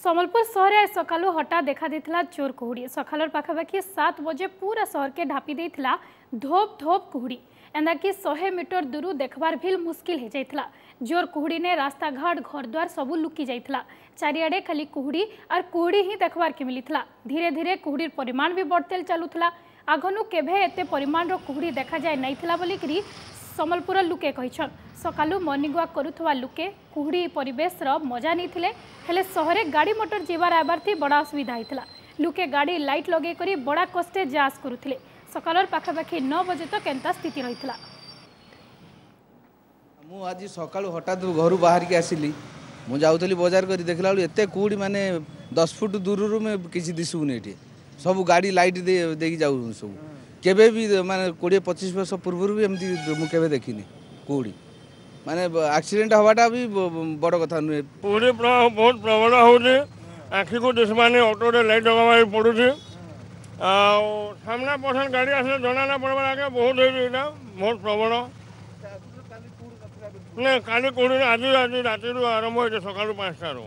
ସମ୍ବଲପୁର ସହରେ ଆଜ ସକାଳୁ ହଠାତ୍ ଦେଖାଦେଇଥିଲା ଜୋର କୁହୁଡ଼ି। ସକାଳର ପାଖାପାଖି 7 ବଜେ ପୁରା ସହରକେ ଢାପି ଦେଇଥିଲା ଧୋପ ଧୋପ କୁହୁଡ଼ି। ଏନ୍ତାକି 100 ମିଟର ଦୂରୁ ଦେଖବାର ଭିଲ ମୁସ୍କିଲ ହେଇଯାଇଥିଲା। ଜୋର କୁହୁଡ଼ିନେ ରାସ୍ତାଘାଟ, ଘରଦ୍ୱାର ସବୁ ଲୁକି ଯାଇଥିଲା। ଚାରିଆଡ଼େ ଖାଲି କୁହୁଡ଼ି ଆର୍ କୁହୁଡ଼ି ହିଁ ଦେଖବାର୍କେ ମିଳିଥିଲା। ଧୀରେ ଧୀରେ କୁହୁଡ଼ିର ପରିମାଣ ବି ବଢ଼ତେ ଚାଲୁଥିଲା। ଆଗନୁ କେଭେ ଏତେ ପରିମାଣର କୁହୁଡ଼ି ଦେଖାଯାଇ ନାଇଥିଲା ବୋଲିକିରି ସମ୍ବଲପୁର ଲୁକେ କହିଛନ୍। ସକାଳୁ ମର୍ଣ୍ଣିଂ ୱାକ୍ କରୁଥିବା ଲୁକେ କୁହୁଡ଼ି ପରିବେଶର ମଜା ନେଇଥିଲେ। ହେଲେ ସହରେ ଗାଡ଼ି ମଟର ଯିବାର ଆଇବାର ବଡ଼ା ଅସୁବିଧା ହେଇଥିଲା। ଲୁକେ ଗାଡ଼ି ଲାଇଟ୍ ଲଗେଇ କରି ବଡ଼ା କଷ୍ଟେ ଯାଆସ କରୁଥିଲେ। ସକାଳର ପାଖାପାଖି 9 ବଜେ ତ କେନ୍ତା ସ୍ଥିତି ରହିଥିଲା। ମୁଁ ଆଜି ସକାଳୁ ହଠାତ୍ ଘରୁ ବାହାରିକି ଆସିଲି। ମୁଁ ଯାଉଥିଲି ବଜାର କରି, ଦେଖିଲା ବେଳକୁ ଏତେ କୁହୁଡ଼ି, ମାନେ 10 ଫୁଟ ଦୂରରୁ ମୁଁ କିଛି ଦିଶୁନି। ଏଠି ସବୁ ଗାଡ଼ି ଲାଇଟ୍ ଦେଇକି ଯାଉଛନ୍ତି ସବୁ। କେବେ ବି, ମାନେ 20 25 ବର୍ଷ ପୂର୍ବରୁ ବି ଏମିତି ମୁଁ କେବେ ଦେଖିନି କୁହୁଡ଼ି। ମାନେ ଆକ୍ସିଡେଣ୍ଟ ହେବାଟା ବି ବଡ଼ କଥା ନୁହେଁ। କୁହୁଡ଼ି ବହୁତ ପ୍ରବଳ ହେଉଛି, ଆଖିକୁ ଦିଶୁମାନି। ଅଟୋରେ ଲାଇଟ୍ ଲଗାଇବାକୁ ପଡ଼ୁଛି ଆଉ ସାମ୍ନା ପଛରେ ଗାଡ଼ି ଆସିଲେ ଜଣା ନା ପଡ଼ବାର ଆଜ୍ଞା। ବହୁତ ହେଇଛି ଏଇଟା, ବହୁତ ପ୍ରବଳ। ନା, କାଲି କୁହୁଡ଼ି ଆଜି ରାତିରୁ ଆରମ୍ଭ ହେଇଛି, ସକାଳୁ 5ଟାରୁ।